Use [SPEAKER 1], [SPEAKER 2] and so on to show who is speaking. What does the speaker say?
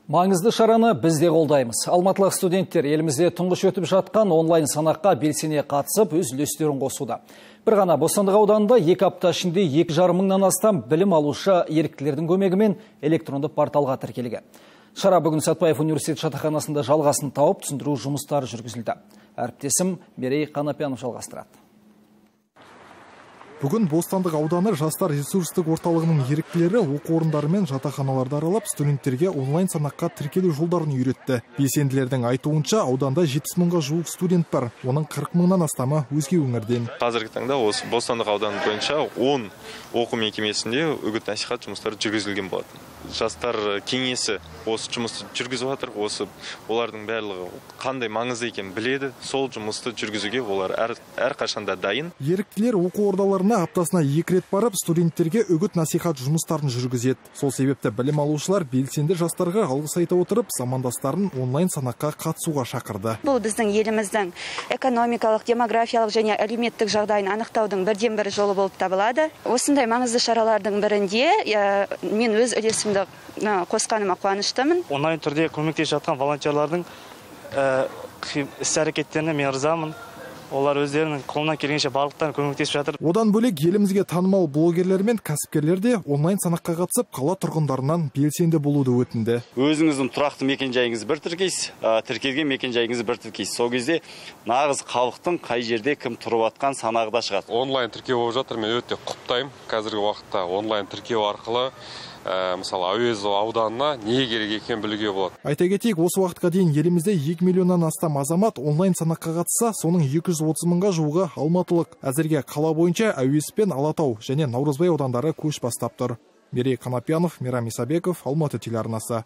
[SPEAKER 1] Маңызды шараны біз де қолдаймыз. Алматылық студенттер елімізде тұңғыш өтіп жатқан онлайн санаққа белсене қатысып, өз үлестерін қосуда. Бір ғана Бостандық ауданында 2 апта ішінде 2,5 мыңнан астам білім алушы еріктілердің көмегімен электронды порталға тіркелген. Шара бүгін Сәтбаев университет жатақханасында жалғасын тауып, түсіндіру жұмыстары жүргізілді. Әріптесім Мерей Қанапиянов жалғастырады.
[SPEAKER 2] Бүгін Бостандық ауданы жастар ресурстық орталығының еріктілері оқу орындары мен жатақханаларды аралап, студенттерге онлайн санаққа тіркелу жолдарын үйретті. Белсенділердің айтуынша, ауданда 70 мыңға жуық студент бар, оның 40 мыңнан астамы өзге өңірден.
[SPEAKER 3] Қазіргі таңда осы Бостандық ауданы бойынша 10 оқу мекемесінде үгіт-насихат жұмыстары жүргізілген болады. Жастар кеңесі осы жұмысты жүргізіп жатыр, олардың барлығы қандай маңызды екенін біледі, сол жұмысты жүргізуге олар әрқашанда дайын.
[SPEAKER 2] Еріктілер оқу ордаларына аптасына 2 рет барып, студенттерге үгіт-насихат жұмыстарын жүргізеді. Сол себепті білім алушылар белсенді жастарға алғыс айта отырып, замандастарын онлайн санаққа қатысуға шақырды.
[SPEAKER 4] Бұл біздің еліміздің экономикалық, демографиялық және әлеуметтік жағдайын анықтаудың бірден-бір жолы болып табылады. Осындай маңызды шаралардың бірінде мен өз үлесімді қосқаныма қуаныштымын.
[SPEAKER 5] Онлайн түрде көмектесіп жатқан волонтерлардың іс-әрекеттеріне мен ырзамын. Олар өздерінің қолынан келгенше барлықтарын көмектесіп жатыр.
[SPEAKER 2] Одан бөлек елімізге танымал блогерлер мен кәсіпкерлер де онлайн санаққа қатысып, қала тұрғындарынан белсенді болуды өтінді.
[SPEAKER 6] Өзіңіздің тұрақты мекен-жайыңызды бір тіркейсіз, тіркелген мекен-жайыңызды бір тіркейсіз. Сол кезде нағыз халықтың қай жерде кім тұрып жатқан санағы да шығады.
[SPEAKER 7] Онлайн тіркеу болып жатыр, мен өте құптаймын. Қазіргі уақытта онлайн тіркеу арқылы мысалы Әуезов ауданына не керек екенін білуге болады.
[SPEAKER 2] Айта кетейік, осы уақытқа дейін елімізде 2 миллионнан астам азамат онлайн санаққа қатысса, соның 230 мыңға жуығы алматылық. Әзірге қала бойынша Әуезов пен Алатау және Наурызбай аудандары көш бастап тұр. Мерей Қанапиянов, Мейрам Исабеков, Алматы телеарнасы.